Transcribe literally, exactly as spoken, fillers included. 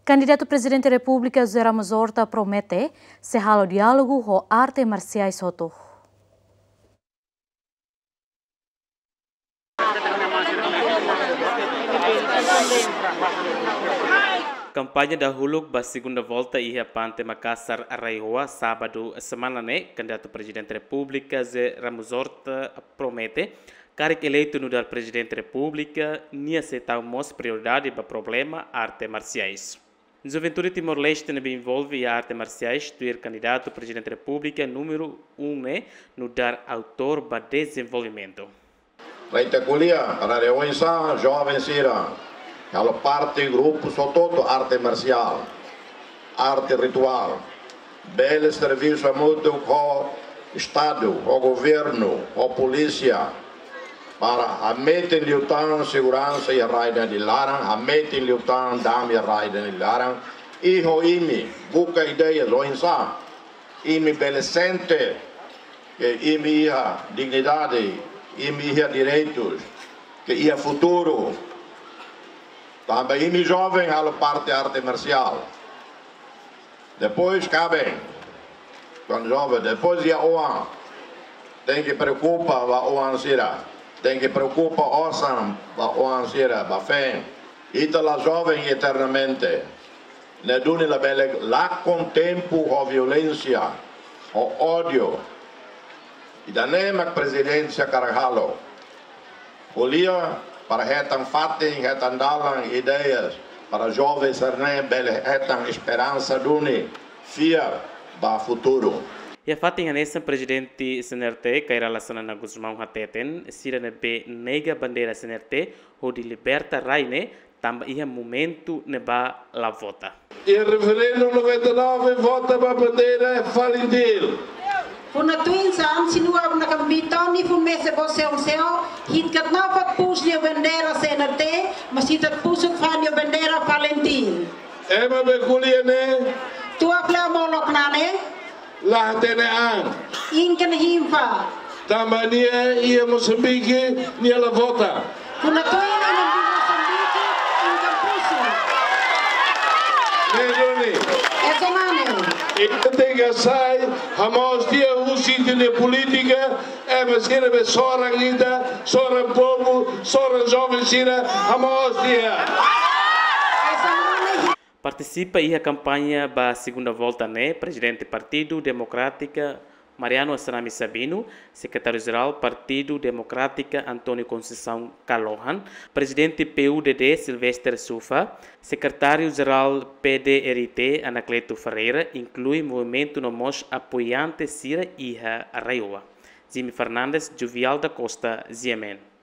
Kandidatu Prezidente Repúblika José Ramos Horta promete sei halo diálogu ho arte marsiais hotu. Kampaña dahuluk ba segunda volta iha Pante Makasar, RAEOA, sábadu semana ne'e, kandidatu Prezidente Repúblika José Ramos Horta promete, karik eleitu nu'udar Prezidente Repúblika, nia sei tau mós prioridade ba problema arte marsiais. Juventude Timor-Leste ne'ebé envolve iha arte marsiais, tuir kandidatu Prezidente Repúblika númeru um ne'e, nu'udar autór ba dezenvolvimentu. Ba ita ko'alia, para oinsá joven sira halo parte grupu hotu-hotu arte marsiál, arte rituál, bele servisu hamutuk ho Estadu, ho governu, ho polísia, para hametin liután seguransa iha rai ida-ne'e nia laran, hametin liután dame iha rai ida-ne'e nia laran, i ho imi buka ideia oinsá imi bele sente ke imi iha dignidade, imi iha direitus, ke iha futuru. Tanba imi joven halo parte arte marsiál. Depois kaben, kuandu joven, depois iha oan, tenke preokupa ba oan sira, tenke preokupa osan ba oan sira, ba feen. Ita la joven eternamente. Ne'e duni labele lakon tempu ho violénsia, ho ódiu. Ida-ne'e mak prezidénsia hakarak halo. Ko'alia para hetan fatin, hetan dalan, ideias, para joven sira-ne'e bele hetan esperansa duni, fiar ba futuru. Iha fatin hanesan, Prezidente CNRT, Kay Rala Xanana Gusmão hateten, sira ne'ebé nega bandeira CNRT hodi liberta rai ne'e, tanba iha momentu ne'ebá la vota. Iha referendu noventa e nove, vota ba bandeira FALINTIL. Funu tuin saan, sinua una kambitoni fun mese bo seu seu, hit kat na fat pus nia bandeira CNRT, mas hit kat pusuk fali nia bandeira FALINTIL. Ema be ko'alia ne'e. Tua fle molok nane. La hatene an. Inken hinfa. Tanba nia iha Mosambike, nia la vota. Funu tuin ema iha Mosambike, inken pusu. Ne'e duni. Ese mane. Ita tenke sai, hamoos tiha husi ita-nia polítika, ema sira be soran ita, soran povu, soran joven sira, hamoos tiha. Ese mane. Partisipa iha kampaña ba segunda volta ne'e, Prezidente Partidu Demokrátika Mariano Assanami Sabino, Sekretáriu-Jerál Partidu Demokrátika António Conceição Kalohan, Prezidente PUDD Silvester Sufa, Sekretáriu-Jerál PDRT Anacleto Ferreira, inklui movimentu no mós apoiante sira iha RAEOA. Jimmy Fernandes, Jovial da Costa, GMN.